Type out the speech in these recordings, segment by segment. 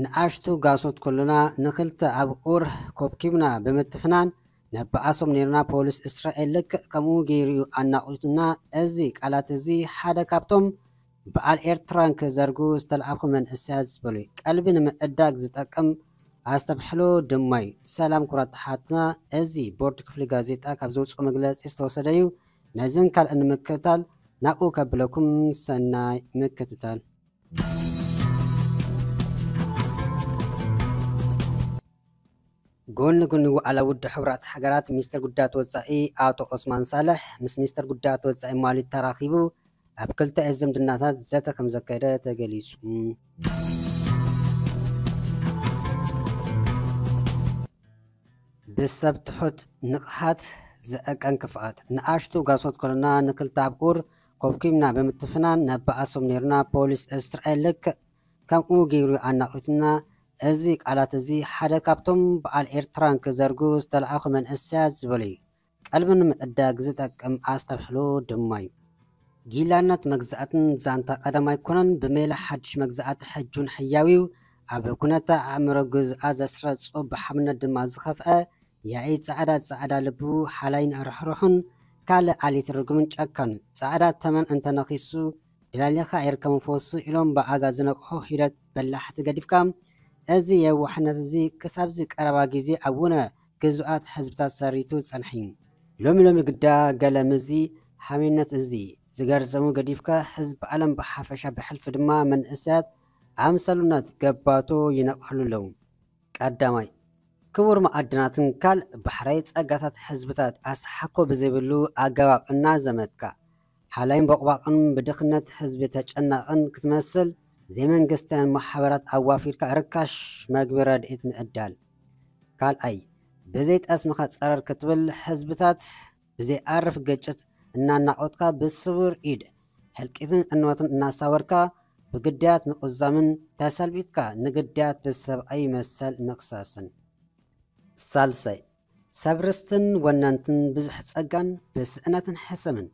ንኣሽቱ ጋሶት ኩልና ንክልተ ኣብኡር ኮብኪብና ብምትፍናን ነብኣሶም ነይርና። ፖሊስ እስራኤል ልክዕ ከምኡ ገይሩ እዩ ኣናቒቱና። እዚ ቃላት እዚ ሓደ ካብቶም በዓል ኤርትራን ክዘርጉ ዝተለኣኹ መንእሰያት ዝበሉ እዩ። ቀልቢ ንምዕዳግ ዝጠቅም ኣስተብሕሎ ድማ እዩ። ሰላም ኩራት ተሓትና፣ እዚ ቦርድ ክፍሊ ጋዜጣ ካብ ዘውፅኦ መግለፂ ዝተወሰደ እዩ። ነዝን ካልእን ንምክትታል ናብኡ ከብለኩም ሰናይ ምክትታል። ጎኒ ጎኒ ዋዕላ ውድብ ሕቡራት ሃገራት፣ ሚኒስትር ጉዳያት ወጻኢ ኣቶ ኦስማን ሳልሕ ምስ ሚኒስትር ጉዳያት ወጻኢ ማሊ ተራኺቡ ኣብ ክልተ ዝምድናታት ዘተ ከም ዘካየደ ተገሊጹ። ብሰብ ትሑት ንቕሓት ዝዕቀን ክፍኣት፣ ንኣሽቱ ጋሶት ኮሎና ንክልተ ኣብኡር ኮብኪብና ብምትፍናን ነባኣሶም ነይርና። ፖሊስ እስራኤል ልክዕ ከምኡ ገይሩ ኣናቒቱና። እዚ ቃላት እዚ ሓደ ካብቶም በዓል ኤርትራን ክዘርጉ ዝተለኣኹ መንእሰያት ዝበሉ እዩ። ቀልቢ ንምዕዳግ ዝጠቅም ኣስተብሕሎ ድማ እዩ። ጊላነት መግዛእትን ዛንታ ቀደም ኣይኮነን። ብሜላ ሓድሽ መግዛእቲ ሕጂ እውን ሕያው እዩ። ኣብ ኩነተ ኣእምሮ ግዝኣ ዘስረጾ፣ ብሓምነት ድማ ዝኸፍአ ያኢ ጻዕዳ፣ ጻዕዳ ልቡ ሓላይን ርሕሩሕን ካልእ ኣሊት ርጉምን ጨካን። ጻዕዳ ተመን እንተነኺሱ ደላሊኻ ኣይርከብን ፈውሱ ኢሎም ብኣጋ ዝነቅሑ ሒደት በላሕቲ ገዲፍካ፣ እዚ የዋሕነት እዚ ክሳብዚ ቀረባ ግዜ ኣብ ውነ ግዙኣት ሕዝብታት ሰሪቱ ዝጸንሐ እዩ። ሎሚ ሎሚ ግዳ ገለ ምዚ ሓሜነት እዚ ዝገርዘሙ ገዲፍካ ህዝቢ ዓለም ብሓፈሻ ብሕልፊ ድማ መንእሰያት ኣምሰሉነት ገባቶ ይነቅሕሉ ኣለዉ። ቀዳማይ፣ ክቡር መዓድናትን ካልእ ባሕራዊ ጸጋታት ሕዝብታት ኣስሓኮ ብዘይብሉ ኣገባብ እናዘመትካ ሓላይን ቦቕባቕን ብድኽነት ህዝቢ ተጨናቕን ክትመስል ዘይመንግስታውያን ማሕበራት ኣዋፊርካ ርካሽ መግቢ ረድኤት ምዕዳል። ካልኣይ፣ ብዘይ ጠስምኻ ጸረር ክትብል ህዝብታት ብዘይኣርፍ ግጭት እናናቖትካ ብስውር ኢድ ህልቂትን ዕንወትን እናሳወርካ ብግዳያት ምቑዛምን ተሰልቢጥካ ንግዳያት ብሰብኣዊ መሰል ምኽሳስን። ሳልሳይ፣ ሰብ ርስትን ወነንትን ብዙሕ ጸጋን ብስእነትን ሕሰምን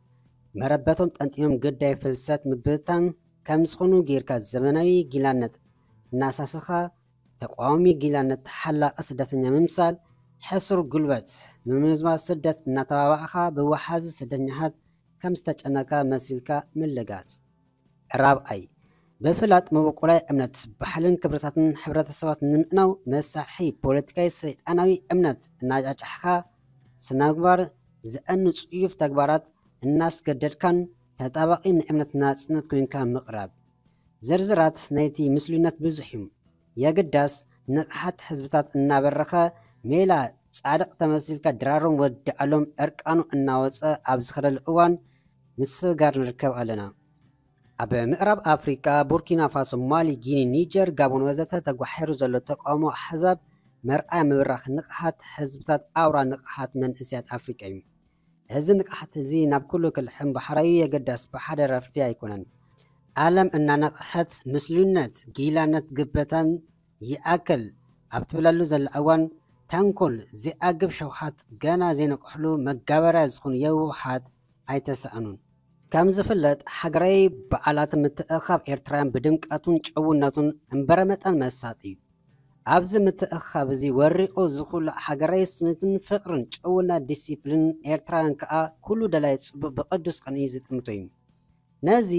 መረበቶም ጠንጢኖም ግዳይ ፍልሰት ምብትታን ከም ዝኾኑ ጌርካ ዘመናዊ ጊላነት እናሳሰኻ ተቃዋሚ ጊላነት ተሓላቒ ስደተኛ ምምሳል፣ ሕሱር ጉልበት ምምዝማዝ ስደት እናተባባእኻ ብወሓዚ ስደተኛታት ከም ዝተጨነካ መሲልካ ምልጋጽ። ራብኣይ፣ ብፍላጥ መበቆላዊ እምነት፣ ባህልን ክብርታትን ሕብረተሰባት ንምእናው መሳርሒ ፖለቲካዊ ሰይጣናዊ እምነት እናጫጫሕካ ስነምግባር ዘእኑ ጽዩፍ ተግባራት እናስገደድካን ተጣባቒ ንእምነት ናጽነት ኮይንካ ምቕራብ። ዝርዝራት ናይቲ ምስሉይነት ብዙሕ እዩ። የግዳስ ንቕሓት ህዝብታት እናበረኸ ሜላ ጻድቕ ተመሲልካ ድራሮም ወዲ ኣሎም ዕርቃኑ እናወጸ ኣብ ዝኸደሉ እዋን ምስጋር ንርከብ ኣለና። ኣብ ምዕራብ ኣፍሪቃ ቡርኪና ፋሶ፣ ማሊ፣ ጊኒ፣ ኒጀር፣ ጋቦን ወዘተ ተጓሒሩ ዘሎ ተቃውሞ ኣሕዛብ መርኣያ ምብራኽ ንቕሓት ህዝብታት ኣውራ ንቕሓት መንእሰያት ኣፍሪቃ እዩ። እዚ ንቕሓት እዚ ናብ ኩሉ ክልሕም ባሕራዊ የገዳስ ብሓደ ረፍዲ ኣይኮነን። ዓለም እናነቕሐት ምስሉይነት፣ ጊላነት፣ ግበታን ይኣክል ኣብ ትብለሉ ዘላ እዋን ተንኮል፣ ዘይኣግብ ሸውሃት ገና ዘይነቅሕሉ መጋበርያ ዝኾኑ የውሃት ኣይተሳእኑን። ከም ዝፍለጥ ሃገራዊ በዓላት ምትእኻብ ኤርትራውያን ብድምቀቱን ጭውነቱን እምበረ መጠን መሳጢ እዩ። ኣብዚ ምትእኻብ እዚ ወሪቑ ዝኹላዕ ሃገራዊ ስኒትን ፍቕርን ጭውነት ዲሲፕሊን ኤርትራውያን ከኣ ኩሉ ደላይ ጽቡቕ ብቅዱስ ቅንኢ ዝጥምቶ እዩ። ነዚ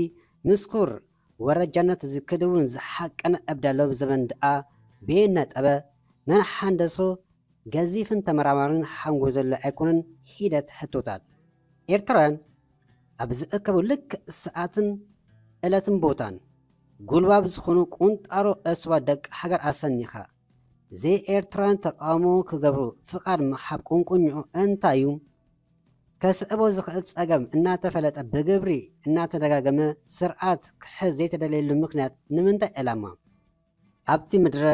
ምስኩር ወረጃነት ዝክድውን ዝሓቀነ እብዳ ሎብ ዘበን ደኣ ብየን ነጠበ መን ሓንደሶ ገዚፍን ተመራማርን ሓንጎ ዘሎ ኣይኮነን ሒደት ሕቶታት። ኤርትራውያን ኣብ ዝእከቡ ልክዕ ሰዓትን ዕለትን ቦታን ጉልባብ ዝኾኑ ቁንጣሮ ዕሱባት ደቂ ሃገር ኣሰኒኻ ዘይኤርትራውያን ተቃውሞ ክገብሩ ፍቓድ ምሃብ ቁንቁኝኡ እንታይ እዩ? ከስዕቦ ዝኽእል ጸገም እናተፈለጠ ብግብሪ እናተደጋገመ ስርዓት ክሕዝ ዘይተደለየሉ ምኽንያት ንምንታይ ዕላማ? ኣብቲ ምድረ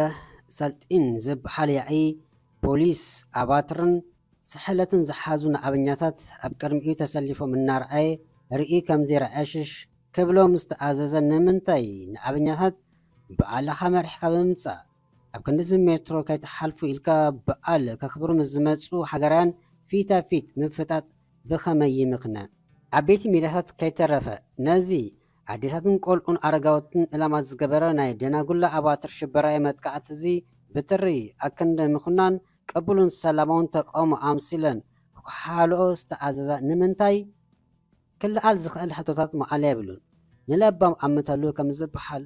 ሰልጢን ዝበሃል ያኢ ፖሊስ ኣባትርን ስሕለትን ዝሓዙ ንኣበኛታት ኣብ ቅድሚኡ ተሰሊፎም እናረኣየ ርእዩ ከም ዘይረኣየ ሽሽ ክብሎም ዝተኣዘዘ ንምንታይ? ንኣበኛታት ብኣላኻ መሪሕካ ብምምጻእ ኣብ ክንድዚ ሜትሮ ከይትሓልፉ ኢልካ በዓል ከኽብሩ ምስ ዝመጹ ሃገራውያን ፊታ ፊት ምፍጣጥ ብኸመይ ይምኽነ? ዓበይቲ ሚድያታት ከይተረፈ ነዚ ኣዴታትን ቆልዑን ኣረጋውትን ዕላማ ዝገበረ ናይ ደናጉላ ኣባትር ሽበራዊ መጥቃዕቲ እዚ ብትሪ ኣክንዲ ምኹናን ቅቡልን ሰላማውን ተቃውሞ ኣምሲለን ክሓልኦ ዝተኣዘዛ ንምንታይ ክልዓል ዝኽእል ሕቶታት መዓለ የብሉን። ንለባም ኣምተሉ ከም ዝበሃል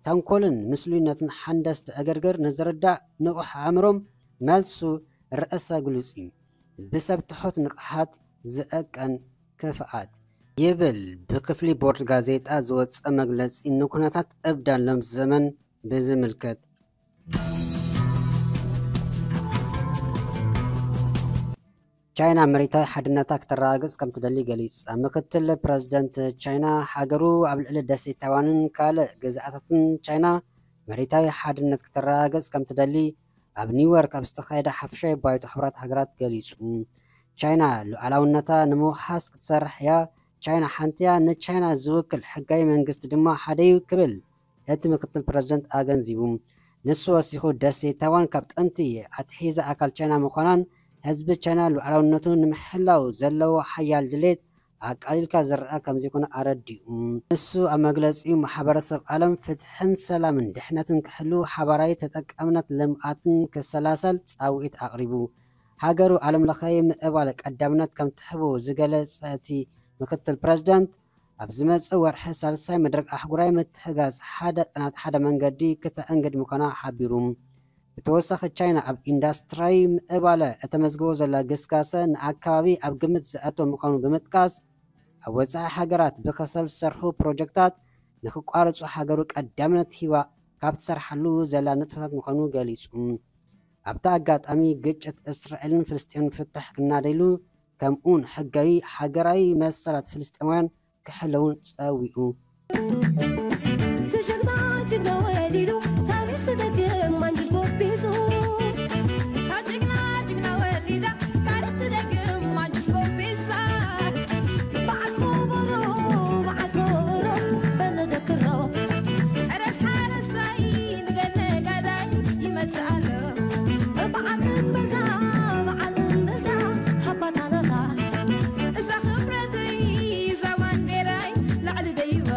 ተንኮልን ምስሉይነትን ሓንደስቲ እግርግር ንዝርዳእ ንቑሕ ኣእምሮም መልሱ ርእሰ ግሉጽ እዩ። ብሰብ ትሑት ንቕሓት ዝእቀን ክፍኣት ይብል ብክፍሊ ቦርድ ጋዜጣ ዝወጸ መግለጺ ንኩነታት እብዳን ሎም ዘመን ብዝምልከት። ቻይና መሬታዊ ሓድነታ ክተረጋግጽ ከም ትደሊ ገሊጻ። ምክትል ፕረዚደንት ቻይና ሃገሩ ኣብ ልዕሊ ደሴት ታይዋንን ካልእ ግዝኣታትን ቻይና መሬታዊ ሓድነት ክተረጋግጽ ከም ትደሊ ኣብ ኒውዮርክ ኣብ ዝተኻየደ ሓፈሻዊ ባይቶ ሕቡራት ሃገራት ገሊጹ። ቻይና ሉዓላውነታ ንምውሓስ ክትሰርሕ እያ። ቻይና ሓንቲ እያ። ንቻይና ዝውክል ሕጋዊ መንግስቲ ድማ ሓደ እዩ ክብል እቲ ምክትል ፕረዚደንት ኣገንዚቡ። ንሱ ወሲኹ ደሴት ታይዋን ካብ ጥንቲ ኣትሒዛ ኣካል ቻይና ምዃናን ህዝቢ ቻይና ሉዓላውነቱ ንምሕላው ዘለዎ ሓያል ድሌት ኣቃሊልካ ዝረኣ ከም ዘይኮነ ኣረዲኡ። ንሱ ኣብ መግለጺኡ ማሕበረሰብ ዓለም ፍትሕን ሰላምን ድሕነትን ክሕሉ ሓባራዊ ተጠቃምነት ልምኣትን ክሰላሰል ጻውዒት ኣቕሪቡ። ሃገሩ ዓለም ለኻዊ ምዕባለ ቀዳምነት ከም ትሕቦ ዝገለጸ እቲ ምክትል ፕረዚደንት ኣብ ዝመጽእ ወርሒ ሳልሳይ መድረኽ ኣህጉራዊ ምትሕጋዝ ሓደ ቅናት ሓደ መንገዲ ክተኣንግድ ምዃና ሓቢሩ። ብተወሳኺ ቻይና ኣብ ኢንዳስትሪያዊ ምዕባለ እተመዝግቦ ዘላ ግስጋሰ ንኣከባቢ ኣብ ግምት ዘእቶ ምዃኑ ብምጥቃስ ኣብ ወጻኢ ሃገራት ብከሰል ዝሰርሑ ፕሮጀክታት ንክቋርጹ ሃገሩ ቀዳምነት ሂባ ካብ ትሰርሓሉ ዘላ ንጥፈታት ምዃኑ ገሊጹ። ኣብቲ ኣጋጣሚ ግጭት እስራኤልን ፍልስጤምን ፍታሕ ክናደይሉ ከምኡውን ሕጋዊ ሃገራዊ መሰላት ፍልስጤማውያን ክሕለውን ጸዊዑ። ትሽግና ጅግና ወሊዱ ታሪኽ ዝደግም ማንጅስ ጎቢሱ። ካብ ጅግና ጅግና ወሊዳ ታሪኽ ትደግም ማንጅስ ጎቢሳ። በዓል ከበሮ በዓል ከበሮ በሎ ደክሮ። ሕረስ ሓረስታይ ንገለ ጋዳይ ይመጽእ ኣሎ። በዓል እምበልታ በዓል እምበልታ ሃባታናታ። እዛ ክብረተይ እዛ ባንዴራይ ላዕሊ ደይባ።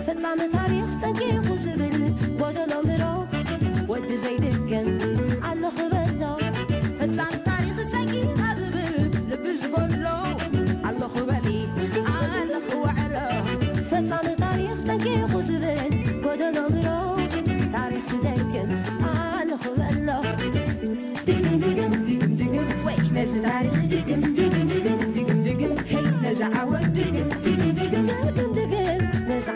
ፈጻሚ ታሪኽ ጠንቂቑ ዝብል ጎደሎ ምሮ ወዲ ዘይድገም ኣለኹ በሎ። ፈጻሚ ታሪኽ ጠንቂቓ ዝብል ልቢ ዝጎድሎ ኣለኹ በሊ ኣለኹ ወዕሮ። ፈጻሚ ታሪኽ ጠንቂቑ ዝብል ጎደሎ ምሮ ታሪኽ ዝደግም ኣለኹ በሎ። ድግም ድግም ድግም ድግም ወይ ነዚ ታሪኽ ድግም ድግም ድግም ድግም ድግም ሄይ ነዚ ዓወት ድግም ድግም ድግም ድግም ድግም ነዚ